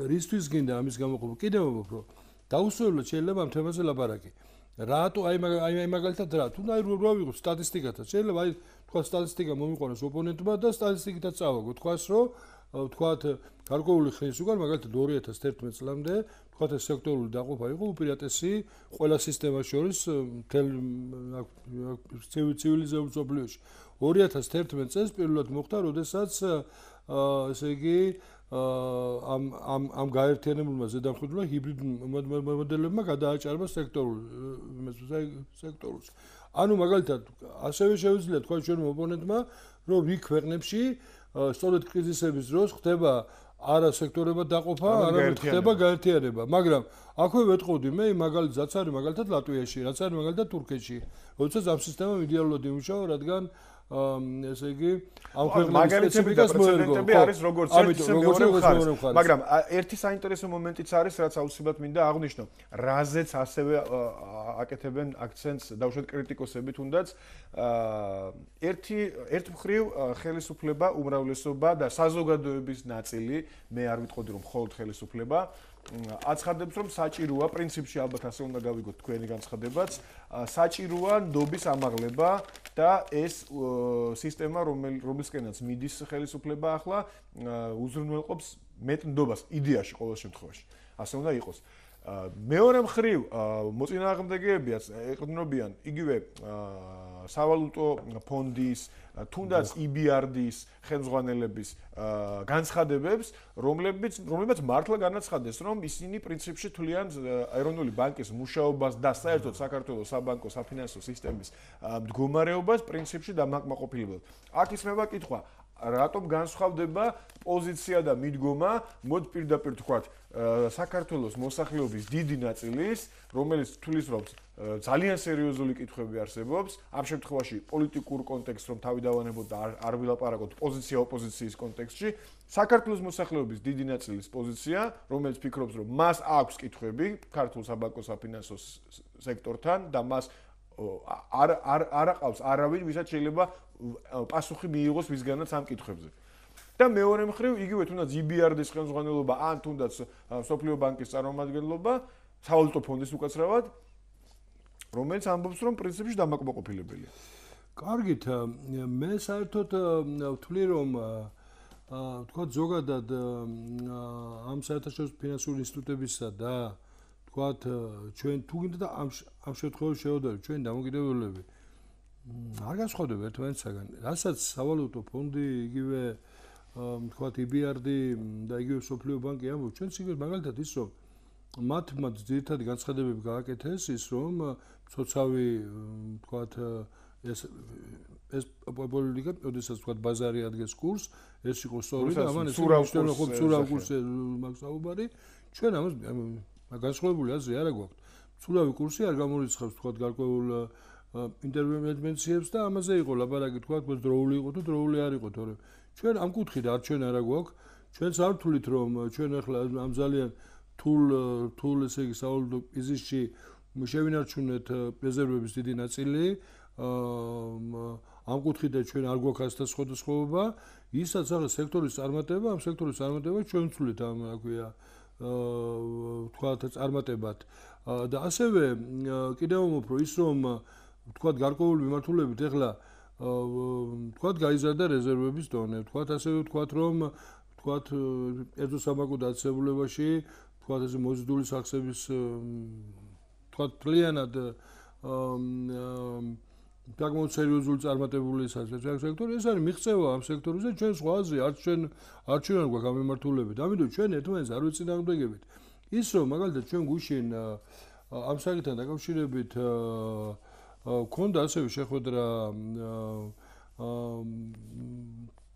რისთვის გინდა ამის გამოყოფა? კიდევ ვამბობ, რომ დაუსრულებლად შეიძლება ამ თემაზე ლაპარაკი. რატო აი მაგალითად რა თუ აი რა ვიღოთ სტატისტიკათაც შეიძლება აი თქვა სტატისტიკა მომიყვანოს ოპონენტმა და სტატისტიკითაც წავაგო თქვას რომ ვთქვათ გარკვეული ხნის უკან მაგალითად 2011 წლამდე ვთქვათ ეს სექტორული დაყოფა იყო უპირატესი ყველა სისტემას შორის მთელ ცივილიზებულ მსოფლიოში 2011 წელს პირველად მოხდა როდესაც ესე იგი ამ გაერთიანებულმა ზედამხედველმა ჰიბრიდ მოდელებმა გადააჭარბა სექტორულს. ანუ მაგალითად ასევე შეუძლია თქვა ჩვენ ოპონენტმა რომ რიგ ქვეყნებში სწორედ კრიზისების დროს ხდება არა სექტორებად დაყოფა, არამედ ხდება გაერთიანება. მაგრამ აქვე ვეტყოდი მე მაგალითად არის მაგალითად ლატვიაში, რაც არის მაგალითად თურქეთში. როდესაც ამ სისტემამ იდეალურად იმუშავა, რადგან ესე იგი ამ ქვეყნების სპეციფიკას მოერგო არის როგორც მეორე მხარე. მაგრამ ერთი საინტერესო მომენტიც არის, რაც აუცილებლად მინდა აღვნიშნო. რაზეც ასევე აკეთებენ აქცენტს დავუშვათ კრიტიკოსები თუნდაც ერთ მხრივ ხელისუფლება, უმრავლესობა და საზოგადოების ნაწილი, მე არ ვიტყოდი რომ მხოლოდ ხელისუფლება აცხადებს რომ საჭიროა პრინციპში ალბათ ასე უნდა გავიგოთ თქვენი განცხადებაც საჭიროა ნდობის ამაღლება და ეს სისტემა რომელსკენაც მიდის ხელისუფლება ახლა უზრუნველყოფს მეტ ნდობას იდეაში ყოველ შემთხვევაში ასე უნდა იყოს მეორე მხრივ მოწინააღმდეგეებიაც ეყრდნობიან იგივე სავალუტო ფონდის თუნდაც EBRD-ის ხელმძღვანელების განცხადებებს, რომლებიც მართლა განაცხადეს, რომ ისინი პრინციპში თვლიან ეროვნული ბანკის მუშაობას და საერთოდ საქართველოს საბანკო საფინანსო სისტემის მდგომარეობას პრინციპში დამაკმაყოფილებად. აქ ისმება კითხვა, რატომ განსხვავდება პოზიცია და მიდგომა, მოდ პირდაპირ თქვათ, საქართველოს მოსახლეობის დიდი ნაწილის, რომელიც თვლის რომ ძალიან სერიოზული კითხვები არსებობს, ამ შემთხვევაში პოლიტიკურ კონტექსტს რომ თავი დავანებოთ და არ ვილაპარაკოთ პოზიცია ოპოზიციის კონტექსტში, საქართველოს მოსახლეობის დიდი ნაწილის პოზიცია, რომელიც ფიქრობს, რომ მას აქვს კითხვები ქართულ საბანკო საფინანსო სექტორთან და მას არ აყავს არავინ, ვისაც შეიძლება პასუხი მიიღოს მისგანაც ამ კითხვებზე. და მეორე მხრივ, იგივე თუნდაც EBRD-ის ხელმძღვანელობა, ან თუნდაც სოფლიო ბანკის წარმომადგენლობა, სავალუტო ფონდის უკაცრავად, რომელიც ამბობს, რომ პრინციპში დამაკმაყოფილებელია. კარგით, მე საერთოდ ვთვლი, რომ თქვა ზოგადად ამ საერთაშორისო ფინანსური ინსტიტუტებისა და თქვა ჩვენ თუ გინდა და ამ შემთხვევაში შევადაროთ ჩვენი დამოკიდებულებები არ განსხვავდება ერთმანეთისაგან. რასაც სავალუტო ფონდი, იგივე თქვა EBRD და იგივე სოფლიო ბანკი ამბობს, ჩვენ სიგეთ მაგალითად ის რომ მათ ძირითადი განცხადებები გააკეთეს ის რომ ცოცავი თქვა ეს პოლიტიკა, როდესაც თქვა ბაზარი ადგეს კურსს, ეს იყო სწორი და ამან ეს ცურავ კურსზე მაგ საუბარი, ჩვენ ამას განსხვავებული აზრი არ გვაქვს. ცურავი კურსი არ გამორიცხავს თქვა გარკვეულ ინტერვენციებს და ამაზე იყო ლაპარაკი თქვა დროული იყო თუ დროული არ იყო, თორემ ჩვენ ამ კუთხით არჩენა არ გვაქვს, ჩვენც არ ვთვლით რომ ჩვენ ახლა ამ ძალიან თულ ესე იგი სავალუტო კრიზისში შევინარჩუნეთ რეზერვების დიდი ნაწილი ამ კუთხიდან ჩვენ არ გვაქვს ასეთ სხვადასხვაობა, ისაც ახლა სექტორის წარმატება, ამ სექტორის წარმატება ჩვენ ვცვლით ამ რა ქვია თქვათ წარმატებად და ასევე კიდევ უფრო ის რომ თქვათ გარკვეული მიმართულებით ეხლა თქვათ გაიზარდა რეზერვების დონე, თქვათ ასევე თქვათ რომ თქვათ ერთო სამაგო დაწესებულებაში თქვათ ეს მოზიდული სახსების თქვათ პლიანად საკმაოდ სერიოზული წარმატებული სექტორი ეს არის მიღწევა ამ სექტორზე ჩვენ სხვაზე არც ჩვენ არ გვაქვს ამ მიმართულებით ამიტომ ჩვენ ერთმანეთს არ ვეწინააღმდეგებით ის რომ მაგალითად ჩვენ გუშინ ამ საკითხთან დაკავშირებით ქონდა ასევე შეხვედრა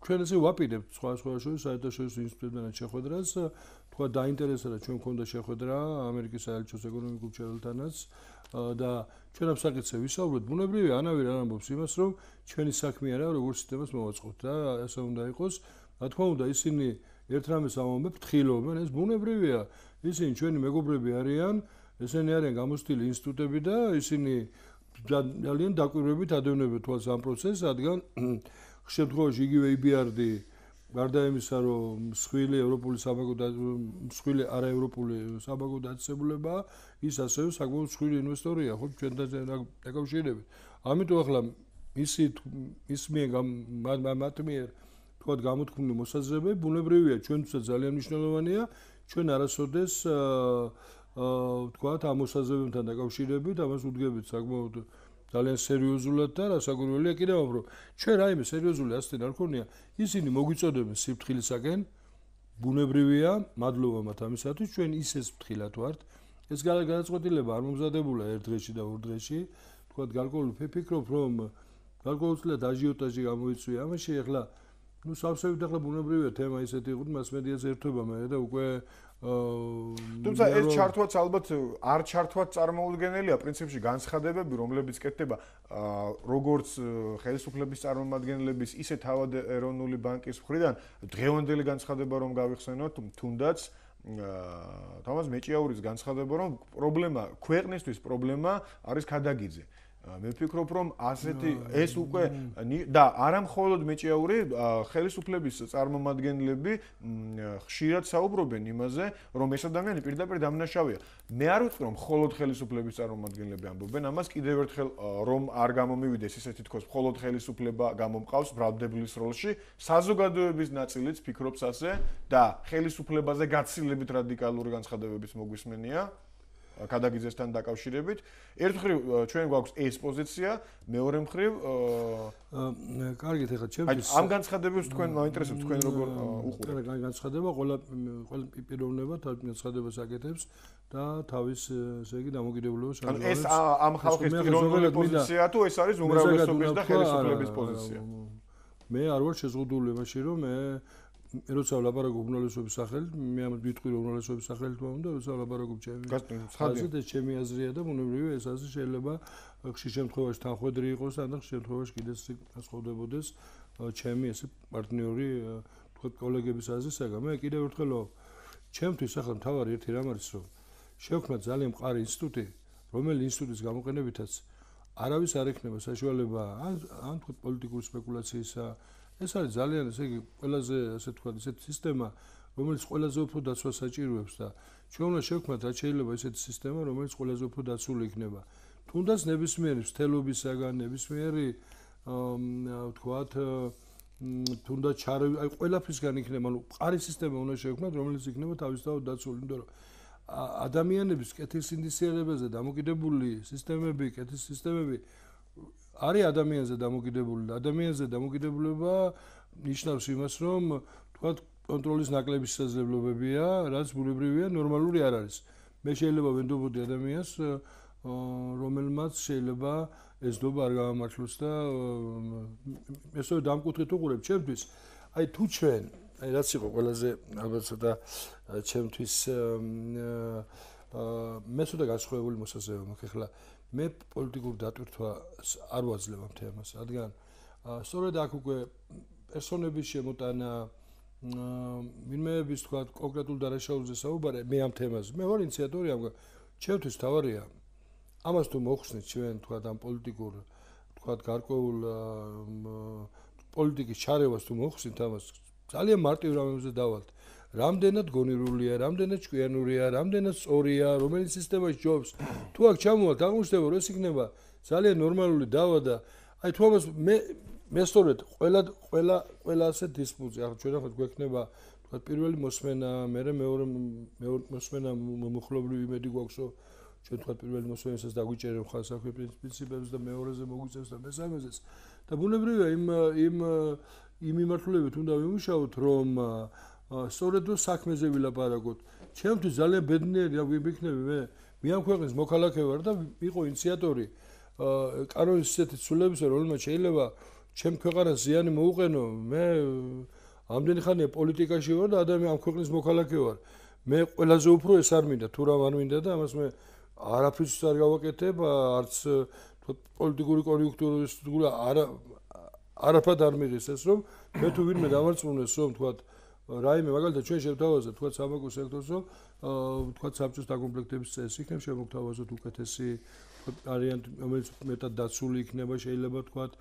ჩვენ ესე ვაპირებთ სხვა შორის საერთაშორისო ინსტიტუტებთან შეხვედრას თქვა დაინტერესდა ჩვენ ქონდა შეხვედრა ამერიკის საელჩოს ეკონომიკურ მრჩეველთანაც და ჩვენ ამ საკითხზე ვისაუბრეთ ბუნებრივია ანავირ არ ამბობს იმას რომ ჩვენი საქმე არა როგორ სისტემას მოვაწყოთ და ასე უნდა იყოს რა თქმა უნდა ისინი ერთ რამეს ამბობენ ფრთხილობენ ეს ბუნებრივია ისინი ჩვენი მეგობრები არიან ესენი არიან გამოცდილი ინსტიტუტები და ისინი ძალიან დაკვირვებით ადევნებენ თვალს ამ პროცესს რადგან შემთხვევაში იგივე IBRD გარდა იმისა რომ მსხვილი ევროპული საბაგო და მსხვილი არაევროპული საბაგო დაწესებულება ის ასევე საკმაოდ მსხვილი ინვესტორია ხო ჩვენთან დაკავშირებით ამიტომ ახლა ის მათ მიერ თქვათ გამოთქმული მოსაზრებები ბუნებრივია ჩვენთვისაც ძალიან მნიშვნელოვანია ჩვენ არასოდეს თქვათ ამ მოსაზრებებთან დაკავშირებით ამას ვუდგებით საკმაოდ ძალიან სერიოზულად და რასაკვირველია კიდევ უფრო ჩვენ რაიმე სერიოზული ასეთი არ ქონია ისინი მოგვიწოდებენ სიფრთხილისაკენ ბუნებრივია მადლობა მათ ამისათვის ჩვენ ისეს ფრთხილად ვართ ეს გადაწყვეტილება არ მომზადებულა ერთ დღეში და ორ დღეში თქვათ გარკვეული ფიქრობ რომ გარკვეულწილად აჟიოტაჟი გამოიწვია ამაში ახლა ну სავსებით ახლა ბუნებრივია თემა ისეთი იყო მასმედიაზე ერთობა მე და უკვე თუმცა ეს ჩართვაც ალბათ არ ჩართვაც წარმოუდგენელია პრინციპში განცხადებები რომლებიც კეთდება როგორც ხელისუფლების წარმომადგენლების ისე თავად ეროვნული ბანკის მხრიდან დღევანდელი განცხადება რომ გავიხსენოთ თუნდაც თამას მეჭიაურის განცხადება რომ პრობლემა ქვეყნისთვის პრობლემა არის ქადაგიძე მე ვფიქრობ რომ ასეთი ეს უკვე და არა მხოლოდ მეჭიაური ხელისუფლების წარმომადგენლები ხშირად საუბრობენ იმაზე რომ ეს ადამიანი პირდაპირ დამნაშავეა მე არ ვიტყვი რომ მხოლოდ ხელისუფლების წარმომადგენლები ამბობენ ამას კიდევ ერთხელ რომ არ გამომივიდეს ისეთი თქოს მხოლოდ ხელისუფლება გამომყავს ბრალდებლის როლში საზოგადოების ნაწილიც ფიქრობს ასე და ხელისუფლებაზე გაცილებით რადიკალური განცხადებების მოგვისმენია ქადაგიძესთან დაკავშირებით ერთ მხრივ ჩვენ გვაქვს ეს პოზიცია მეორე მხრივ კარგით ახლა ჩემთვის ამ განცხადებებს თქვენ მაინტერესებს თქვენ როგორ უყურებთ განცხადება ყველა პიროვნება თავის განცხადებას აკეთებს და თავის ესე იგი დამოკიდებულებას ანუ ეს ამ ხალხის პიროვნული პოზიციაა თუ ეს არის უმრავლესობის და ხელისუფლების პოზიცია მე არ ვარ შეზღუდული იმაში რომ მე როცა ვლაპარაკობ უმრავლესობის სახელით, მე ამას ვიტყვი რომ უმრავლესობის სახელით მომდა, როცა ვლაპარაკობ ჩემი ხაზით, ეს ჩემი აზრია და ბუნებრივია ეს აზრი შეიძლება ხშირ შემთხვევაში თანხვედრი იყოს, ან ხშირ შემთხვევაში კიდეც განსხვავდებოდეს ჩემი ესე პარტნიორი, თქვა კოლეგების აზრისაგან. მე კიდევ ერთხელ ჩემთვის ახლა მთავარი ერთი რამ არის, რომ შევქმნა ძალიან მყარი ინსტიტუტი, რომელიც ინსტიტუტის გამოყენებითაც არავის არ ექნება საშუალება ან თქვა პოლიტიკური სპეკულაციისა ეს არის ძალიან ესე იგი ყველაზე ასე თქვა ესეთი სისტემა რომელიც ყველაზე უფრო დაცვას საჭიროებს და ჩვენ უნდა შევქმნათ რაც შეიძლება ესეთი სისტემა რომელიც ყველაზე უფრო დაცული იქნება თუნდაც ნებისმიერი მთელობისაგან ნებისმიერი თქვათ თუნდაც აი ყველაფრისგან იქნება ანუ მყარი სისტემა უნდა შევქმნათ რომელიც იქნება თავისთავად დაცული იმიტომ რომ ადამიანების კეთილსინდისიერებაზე დამოკიდებული სისტემები კეთის სისტემები არის ადამიანზე დამოკიდებული და ადამიანზე დამოკიდებულება ნიშნავს იმას რომ თქვათ კონტროლის ნაკლები შესაძლებლობებია რაც ბუნებრივია ნორმალური არ არის მე შეიძლება ვენდობოდი ადამიანს რომელმაც შეიძლება ეს დობა არ გამართლოს და ესევე დამკუთრეთ უყურებ ჩემთვის აი თუ ჩვენ აი რაც იყო ყველაზე ალბათ ცოტა ჩემთვის მე ცოტა გასხვავებული მოსაზრება მაქვს ახლა მე პოლიტიკურ დატვირთვას არ ვაძლევ ამ თემას, რადგან სწორედ აქ უკვე პერსონების შემოტანა, ვინმეების თქვა კონკრეტულ დარაშაულზე საუბარი მე ამ თემაზე. მე ვარ ინიციატორი ამ ჩემთვის თავარია. ამას თუ მოხსნით ჩვენ თქვა ამ პოლიტიკურ თქვათ გარკვეულ პოლიტიკის ჩარევას თუ მოხსნით ამას ძალიან მარტივ რამებზე დავალთ. რამდენად გონირულია, რამდენად ჭკვიანურია, რამდენად სწორია, რომელი სისტემაში ჯობს. თუ აქ ჩამოვალთ, აღმოჩნდება, რომ ეს იქნება ძალიან ნორმალური დავა და აი თუ ამას მე სწორედ ყველა ასე დისპუტი, ახლა ჩვენ ახლა გვექნება თქვათ პირველი მოსმენა, მერე მეორე მოსმენა მომხლობრივი იმედი გვაქვს, რომ ჩვენ თქვათ პირველი მოსმენასაც დაგვიჭერენ ხალხ საქმე პრინციპებს და მეორეზე მოგვიწევს და მესამეზეც. და ბუნებრივია იმ მიმართულებით უნდა ვიმუშაოთ, რომ სწორედ რომ საქმეზე ვილაპარაკოთ. ჩემთვის ძალიან ბედნიერი ვიქნები მე ამ ქვეყნის მოქალაქე ვარ და ვიყო ინიციატორი კანონის ისეთი ცვლილებისა, რომელმაც შეიძლება ჩემ ქვეყანას ზიანი მოუყენო. მე ამდენი ხანია პოლიტიკაში ვარ და ამ ქვეყნის მოქალაქე ვარ. მე ყველაზე უფრო ეს არ მინდა, თუ რა არ მინდა და ამას მე არაფერს არ გავაკეთებ, არც პოლიტიკური კონიუნქტურის არაფრად არ მიღეს ეს, რომ მე თუ ვინმე დამარწმუნეს, რომ თქვათ რაიმე მაგალითად ჩვენ შევთავაზებთ თქვათ სამაკო სექტორს, რომ თქვათ საბჭოს დაკომპლექტების წესი იქნება, შემოგთავაზოთ უკეთესი ვარიანტი, რომელიც მეტად დაცული იქნება, შეიძლება თქვათ.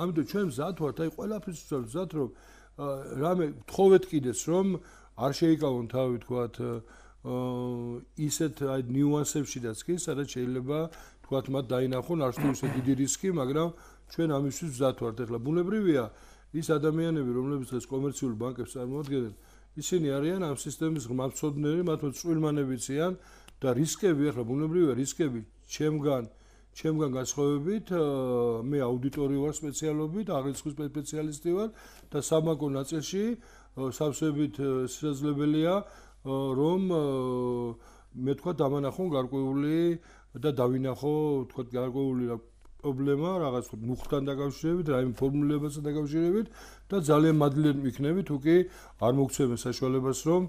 ამიტომ ჩვენ მზად ვართ, აი ყველაფერს ვზად, რომ რამე თხოვეთ კიდეც, რომ არ შეიკავონ თავი თქვათ ისეთ აი ნიუანსებშიდაც კი, სადაც შეიძლება თქვათ მათ დაინახონ არც თუ ისე დიდი რისკი, მაგრამ ჩვენ ამისთვის მზად ვართ. ეხლა ბუნებრივია ის ადამიანები, რომლებიც დღეს კომერციულ ბანკებს წარმოადგენენ, ისინი არიან ამ სისტემის ღმერთმცოდნები, მათ წვრილმანებიციან და რისკები, ახლა ბუნებრივია რისკები ჩემგან განსხვავებით, მე აუდიტორი ვარ სპეციალობით, აღრიცხვის სპეციალისტი ვარ და სამაკო ნაწილში სავსებით შესაძლებელია, რომ მე თქვა დამანახონ გარკვეული და დავინახო თქვა გარკვეული პრობლემა რაღაც მუხტთან დაკავშირებით, რაიმე ფორმულებასთან დაკავშირებით და ძალიან მადლიანი ვიქნები, თუ კი არ მოგცემენ საშუალებას, რომ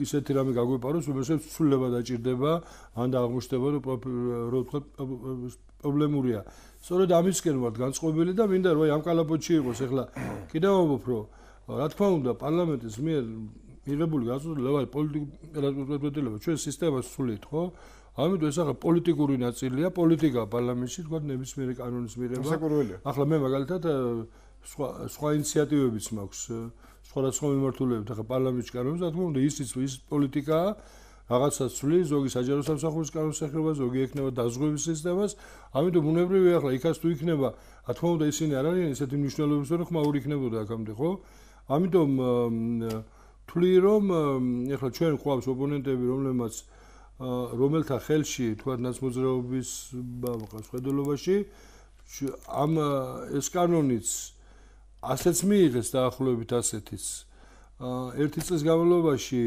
ისეთი რამე გაგვეპაროს, რომელსაც ცვლილება დაჭირდება, ან და აღმოჩნდება, რომ თქვა პრობლემურია. სწორედ ამისკენ ვართ განწყობილი და მინდა რომ ამ კალაპოტში იყოს. ეხლა კიდევ ამბობ, რომ რა თქმა უნდა, პარლამენტის მიერ მიღებული გაზრდილება პოლიტიკურ ჩვენ სისტემას ვსულით, ხო? ამიტომ ეს ახლა პოლიტიკური ნაწილია, პოლიტიკა პარლამენტში, თქვა ნებისმიერი კანონის მიღება. ახლა მე მაგალითად სხვა ინიციატივებიც მაქვს, სხვადასხვა მიმართულებებით, ახლა პარლამენტში კანონს, რა თქმა უნდა, ის პოლიტიკაა, რაღაცას ცვლის, ზოგი საჯარო სამსახურის კანონს ეხება, ზოგი ექნება დაზღვევის სისტემას. ამიტომ ბუნებრივია ახლა იქაც თუ იქნება, რა თქმა უნდა, ისინი არ არიან ისეთი მნიშვნელობის, რომ ხმაური იქნებოდა აქამდე, ხო? ამიტომ თვლი რომ ეხლა ჩვენ ყავს ოპონენტები, რომელთა ხელში თქვა ნაცმოძრაობის ხედულობაში ამ ეს კანონიც ასეც მიიღეს დაახლოებით ასეთიც ერთი წლის განმავლობაში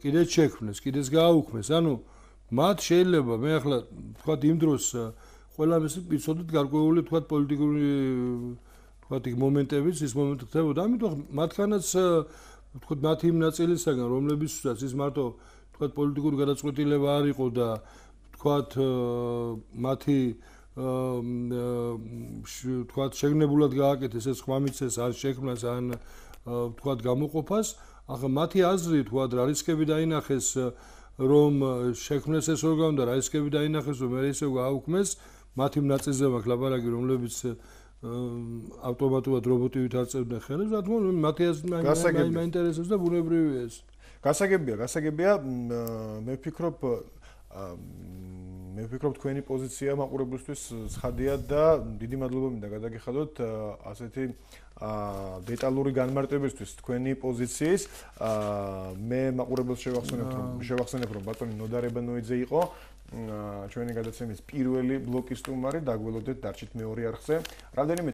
კიდეც შექმნეს, კიდეც გააუქმეს. ანუ მათ შეიძლება მე ახლა თქვა იმ დროს ყველა ეს ვიცოდით გარკვეული თქვა პოლიტიკური თქვა იქ მომენტებიც ის მომენტი ხდებოდა. ამიტომ მათქანაც თქვა მათი იმ ნაწილისაგან, რომლებიცაც ის მარტო თქვა პოლიტიკური გადაწყვეტილება არ იყო და თქვა მათი თქვა შეგნებულად გააკეთეს ეს ხმამიცეს არ შექმნას ან თქვა გამოყოფას. ახლა მათი აზრი თქვა რა რისკები დაინახეს რომ შექმნეს ეს ორგანო და რა რისკები დაინახეს რომ მე ისე გააუქმეს, მათი ნაწილზე მაქვს ლაპარაკი, რომლებიც ავტომატურად რობოტივით არწევდნენ ხელებს, რა თქმა უნდა, მათი აზრი მაინტერესებს და ბუნებრივია ეს. გასაგებია, მე ვფიქრობ თქვენი პოზიცია მაყურებლისთვის ცხადია და დიდი მადლობა მინდა გადაგიხადოთ ასეთი დეტალური განმარტებისთვის თქვენი პოზიციის. მე მაყურებელს შევახსენებ, რომ ბატონი ნოდარებანოიძე იყო ჩვენი გადაცემის პირველი ბლოკის სტუმარი, დაგველოდეთ დარჩით მეორე არხზე. რამდენიმე